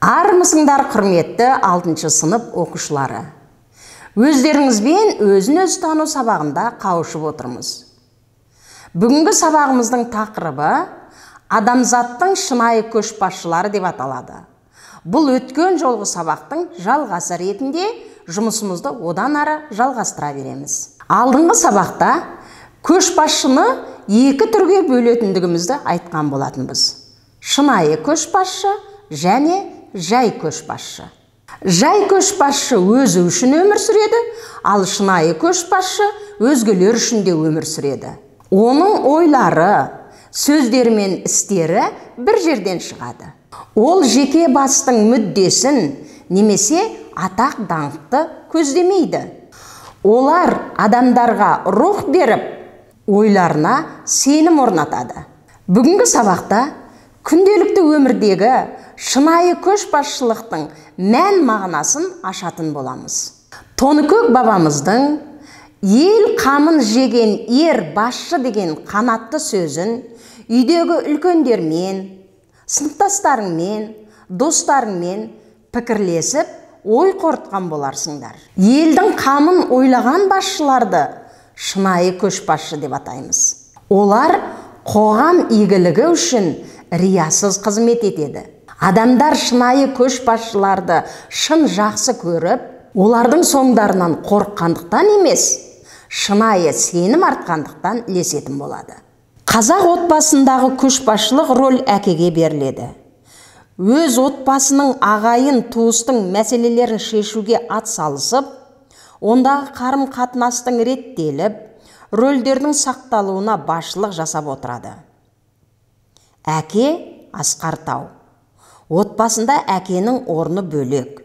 Армысыңдар құрметті 6 сынып оқушылары. Өздеріңізбен өзін-өз тану сабағында қауышып отырмыз. Бүгінгі сабағымыздың тақырыбы адамзаттың шынайы көшбасшылары деп аталады. Бұл өткен жолғы сабақтың жалғасы ретінде жұмысымызды одан ары жалғастыра береміз. Алдыңғы сабақта көшбасшыны екі түрге бөлетіндігімізді айтқан болатынбыз. Шынайы көшбасшы және жай көшбасшы. Жай көшбасшы өзі үшін өмір сүреді, ал шынайы көшбасшы өзгелер үшін де өмір сүреді. Оның ойлары, сөздері мен істері бір жерден шығады. Ол жеке бастың мүддесін немесе атақ даңқты көздемейді. Олар адамдарға рух беріп, ойларына сенім орнатады. Бүгінгі сабақта күнделікті өмірдегі шынайы көшбасшылықтың мән мағынасын ашатын боламыз. Тоныкөк бабамыздың ел қамын жеген ер басшы деген қанатты сөзін үйдегі үлкендермен, сыныптастарыңмен, достарыңмен пікірлесіп, ой қорытқан боларсыңдар. Елдің қамын ойлаған басшыларды шынайы көшбасшы деп атаймыз. Олар қоғам игілігі үшін риясыз қызмет етеді. Адамдар шынайы көшбасшыларды шын жақсы көріп, олардың соңдарынан қорыққандықтан емес, шынайы сенім артқандықтан ілесетін болады. Қазақ отбасындағы көшбасшылық рөл әкеге беріледі. Өз отбасының ағайын туыстың мәселелерін шешуге атсалысып, ондағы қарым-қатынастың реттеліп, рөлдердің сақталуына басшылық жасап отырады. Әке Асқар Тау. Отбасында әкенің орны бөлек.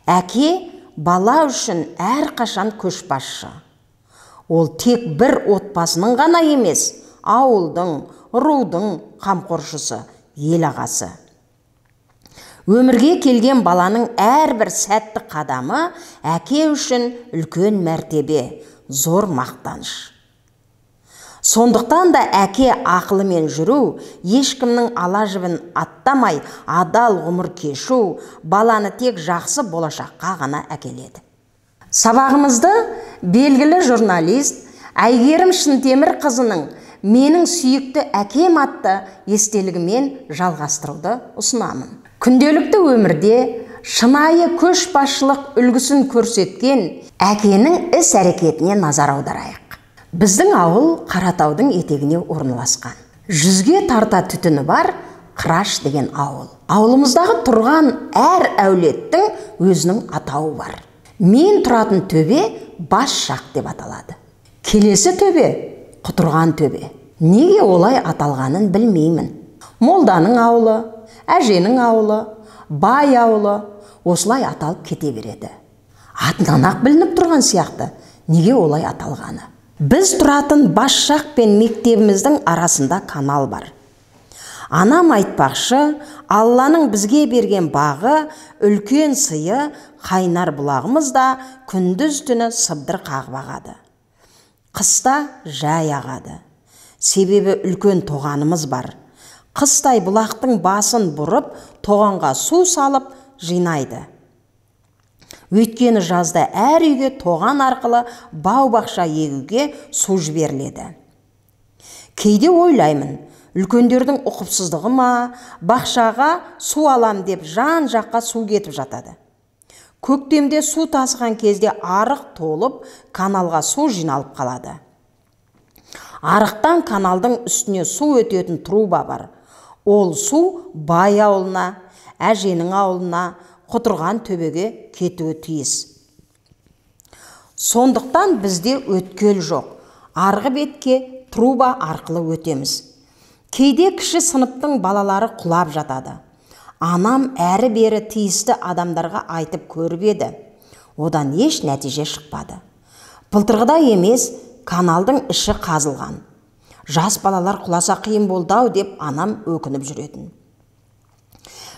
Әке бала үшін әрқашан көшбасшы. Ол тек бір отбасының ғана емес, ауылдың, рудың қамқоршысы, ел ағасы. Өмірге келген баланың әрбір сәтті қадамы әке үшін үлкен мәртебе, зор мақтаныш. Сондықтан да әке ақылымен жүру, ешкімнің ала жібін аттамай, адал ғұмыр кешу, баланы тек жақсы болашаққа ғана әкеледі. Сабағымызды белгілі журналист Әйгерім Шынтемір қызының «Менің сүйікті әкем» атты естелігімен жалғастыруды ұсынамын. Күнделікті өмірде шынайы көшбасшылық үлгісін көрсеткен әкенің іс-әрекетіне назар аударайық. Біздің ауыл Қаратаудың етегіне орналасқан. 100-ге тарта түтіні бар Қыраш деген ауыл. Ауылымыздағы тұрған әр әулеттің өзінің атауы бар. Мен тұратын төбе Басжақ деп аталады. Келесі төбе Құтырған төбе. Неге олай аталғанын білмеймін. Молданың ауылы, әженің ауылы, бай ауылы осылай аталып кете береді. Атынан ақ білініп тұрған сияқты, неге олай аталғаны. Біз тұратын Басжақ пен мектебіміздің арасында канал бар. Анам айтпақшы, Алланың бізге берген бағы, үлкен сыйы, қайнар бұлағымыз да күндіз түні сыбдыр қағып ағады. Қыста жай ағады. Себебі үлкен тоғанымыз бар. Қыстай бұлақтың басын бұрып, тоғанға су салып жинайды. Өйткені жазда әр үйге тоған арқылы бау-бақша егуге су жіберіледі. Кейде ойлаймын, үлкендердің ұқыпсыздығы ма, бақшаға су алам деп жан жаққа су кетіп жатады. Көктемде су тасыған кезде арық толып, каналға су жиналып қалады. Арықтан каналдың үстіне су өтетін труба бар. Ол су бай ауылына, әженің ауылына, Құтырған төбеге кетуі тиіс. Сондықтан бізде өткел жоқ. Арғы бетке труба арқылы өтеміз. Кейде кіші сыныптың балалары құлап жатады. Анам әрі-бері тиісті адамдарға айтып көріп еді. Одан еш нәтиже шықпады. Былтырғыдай емес, каналдың іші қазылған. Жас балалар құласа қиын болды-ау деп анам өкініп жүретін.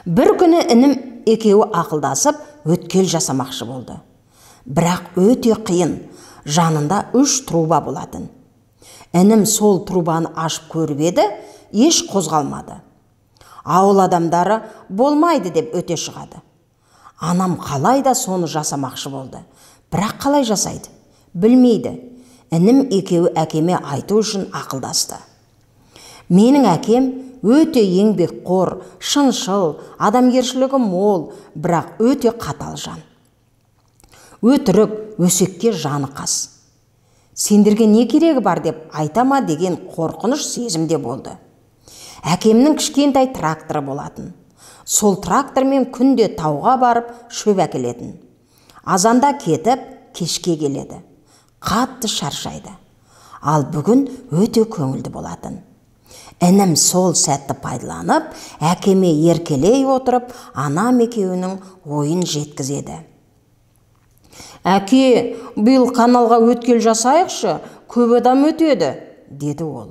Бір күні інім екеуі ақылдасып өткел жасамақшы болды. Бірақ өте қиын, жанында 3 труба болатын. Інім сол трубаны ашып көріп еді, еш қозғалмады. Ауыл адамдары болмайды деп өте шығады. Анам қалай да соны жасамақшы болды. Бірақ қалай жасайды? Білмейді. Інім екеуі әкеме айту үшін ақылдасты. Менің әкем өте еңбекқор, шыншыл, адамгершілігі мол, бірақ өте қатал жан. Өтірік, өсекке жаны қас. Сендерге не керегі бар деп айтама деген қорқыныш сезімде болды. Әкемнің кішкентай тракторы болатын. Сол трактормен күнде тауға барып шөп әкелетін. Азанда кетіп, кешке келеді. Қатты шаршайды. Ал бүгін өте көңілді болатын. Інім сол сәтті пайдаланып, әкеме еркелей отырып, анам екеуінің ойын жеткізеді. Әке, биыл каналға өткел жасайықшы, көп адам өтеді, деді ол.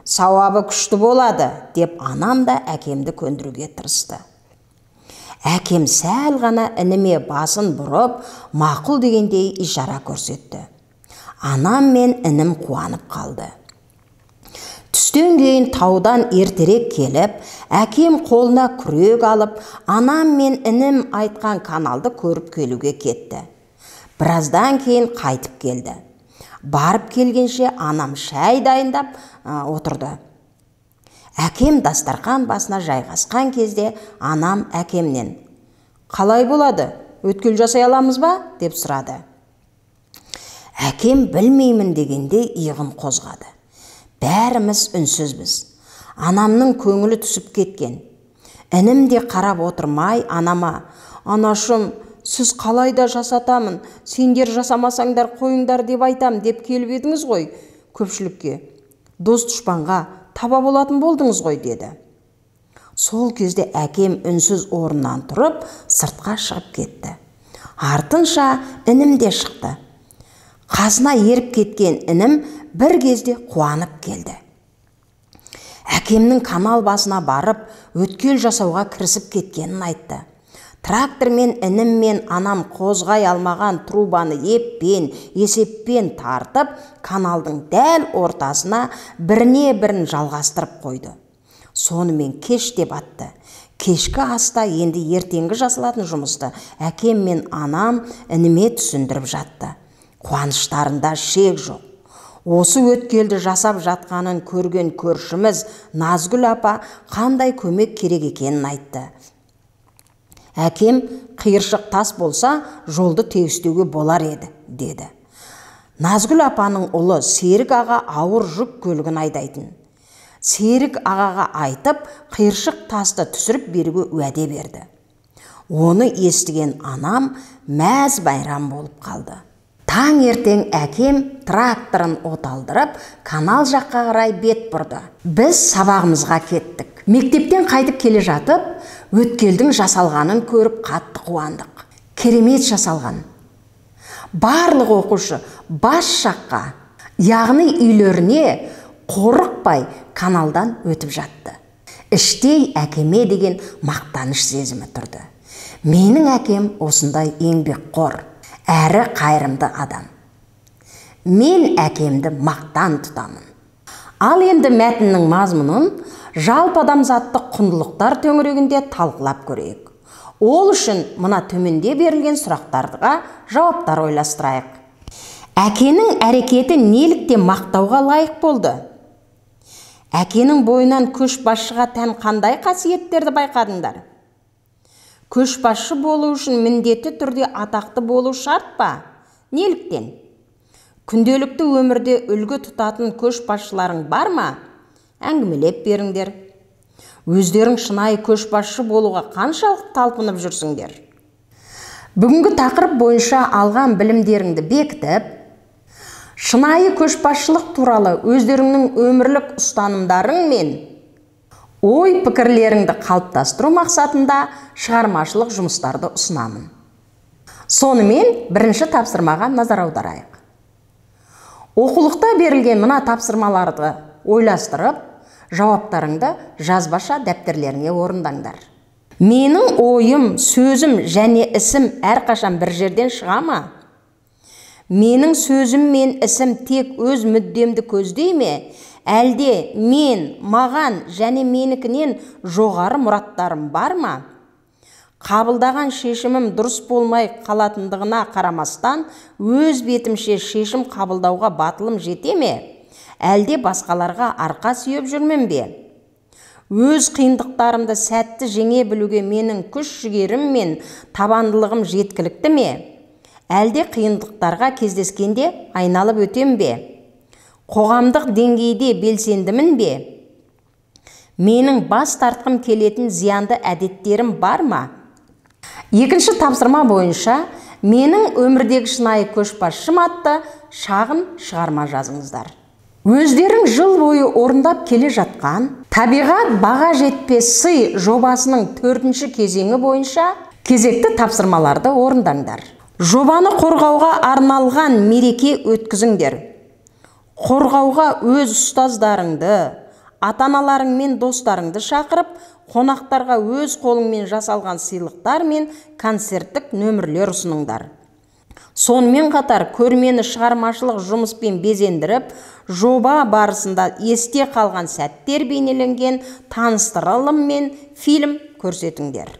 Сауабы күшті болады, деп анам да әкемді көндіруге тырысты. Әкем сәл ғана ініме басын бұрып, мақұл дегендей ишара көрсетті. Анам мен інім қуанып қалды. Түстен кейін таудан ертерек келіп, әкем қолына күрек алып, анам мен інім айтқан каналды көріп келуге кетті. Біраздан кейін қайтып келді. Барып келгенше анам шай дайындап отырды. Әкем дастархан басына жайғасқан кезде анам әкемнен: «Қалай болады? Өткел жасай аламыз ба?» деп сұрады. Әкем білмеймін дегенде иығын қозғады. Бәріміз үнсізбіз. Анамның көңілі түсіп кеткен. Інім де қарап отырмай анама: «Анашым, сіз қалай да жасатамын, сендер жасамасаңдар қойыңдар деп айтам деп келіп едіңіз ғой көпшілікке. Дос дұшпанға таба болатын болдыңыз ғой», деді. Сол кезде әкем үнсіз орнынан тұрып, сыртқа шығып кетті. Артынша інім де шықты. Қасына еріп кеткен інім бір кезде қуанып келді. Әкемнің канал басына барып, өткел жасауға кірісіп кеткенін айтты. Трактормен інім мен анам қозғай алмаған трубаны есеппен тартып, каналдың дәл ортасына біріне бірін жалғастырып қойды. Сонымен кеш деп атты. Кешкі аста енді ертеңгі жасалатын жұмысты әкем мен анам ініме түсіндіріп жатты. Қуаныштарында шек жоқ. Осы өткелді жасап жатқанын көрген көршіміз Назгүл апа қандай көмек керек екенін айтты. Әкем: «Қиыршық тас болса, жолды тегістеуге болар еді», деді. Назгүл апаның ұлы Серік аға ауыр жүк көлігін айдайтын. Серік ағаға айтып, қиыршық тасты түсіріп беруге уәде берді. Оны естіген анам мәз байрам болып қалды. Таң ертең әкем тракторын оталдырып, канал жаққа қарай бет бұрды. Біз сабағымызға кеттік. Мектептен қайтып келе жатып, өткелдің жасалғанын көріп қатты қуандық. Керемет жасалған. Барлық оқушы бас жаққа, яғни үйлеріне қорықпай каналдан өтіп жатты. Іштей әкеме деген мақтаныш сезімі тұрды. Менің әкем осындай еңбекқор, әрі қайырымды адам. Мен әкемді мақтан тұтамын. Ал енді мәтіннің мазмұнын жалпы адамзаттық құндылықтар төңірегінде талқылап көрейік. Ол үшін мына төменде берілген сұрақтарға жауаптар ойластырайық. Әкенің әрекеті неліктен мақтауға лайық болды? Әкенің бойынан көшбасшыға тән қандай қасиеттерді байқадыңдар? Көшбасшы болу үшін міндетті түрде атақты болу шарт па? Неліктен? Күнделікті өмірде үлгі тұтатын көшбасшыларың бар ма? Әңгімелеп беріңдер. Өздерің шынайы көшбасшы болуға қаншалық талпынып жүрсіңдер? Бүгінгі тақырып бойынша алған білімдеріңді бекітіп, шынайы көшбасшылық туралы өздеріңнің өмірлік ұстанымдарың мен ой пікірлеріңді қалыптастыру мақсатында шығармашылық жұмыстарды ұсынамын. Сонымен бірінші тапсырмаға назар аударайық. Оқулықта берілген мына тапсырмаларды ойластырып, жауаптарыңды жазбаша дәптерлеріңе орындаңдар. Менің ойым, сөзім және ісім әрқашан бір жерден шыға ма? Менің сөзім мен ісім тек өз мүддемді көздей ме, әлде маған және менікінен жоғары мұраттарым бар ма? Қабылдаған шешімім дұрыс болмай қалатындығына қарамастан, өз бетімше шешім қабылдауға батылым жете ме, әлде басқаларға арқа сүйеп жүрмін бе? Өз қиындықтарымды сәтті жеңе білуге менің күш-жігерім мен табандылығым жеткілікті ме? Әлде қиындықтарға кездескенде айналып өтем бе? Қоғамдық деңгейде белсендімін бе? Менің бас тартқым келетін зиянды әдеттерім бар ма? Екінші тапсырма бойынша менің өмірдегі шынайы көшбасшым атты шағын шығарма жазыңыздар. Өздерің жыл бойы орындап келе жатқан табиғат баға жетпес сый жобасының 4-ші кезеңі бойынша кезекті тапсырмаларды орындаңдар. Жобаны қорғауға арналған мереке өткізіңдер. Қорғауға өз ұстаздарыңды, ата-аналарың мен достарыңды шақырып, қонақтарға өз қолыңмен жасалған сыйлықтар мен концерттік нөмірлер ұсыныңдар. Сонымен қатар көрмені шығармашылық жұмыспен безендіріп, жоба барысында есте қалған сәттер бейнеленген таныстырылым мен фильм көрсетіңдер.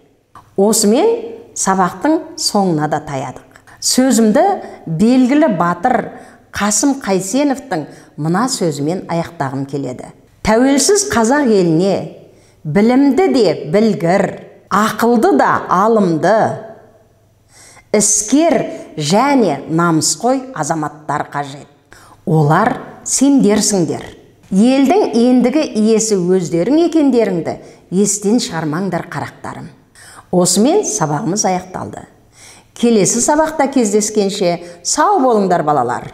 Осымен сабақтың соңына да таядық. Сөзімді белгілі батыр Қасым Қайсеновтың мына сөзімен аяқтағым келеді. Тәуелсіз қазақ еліне білімді де білгір, ақылды да алымды, іскер және намысқой азаматтар қажет. Олар сендерсіңдер. Елдің ендігі иесі өздерің екендеріңді естен шығармаңдар, қарақтарым. Осымен сабағымыз аяқталды. Келесі сабақта кездескенше сау болыңдар, балалар.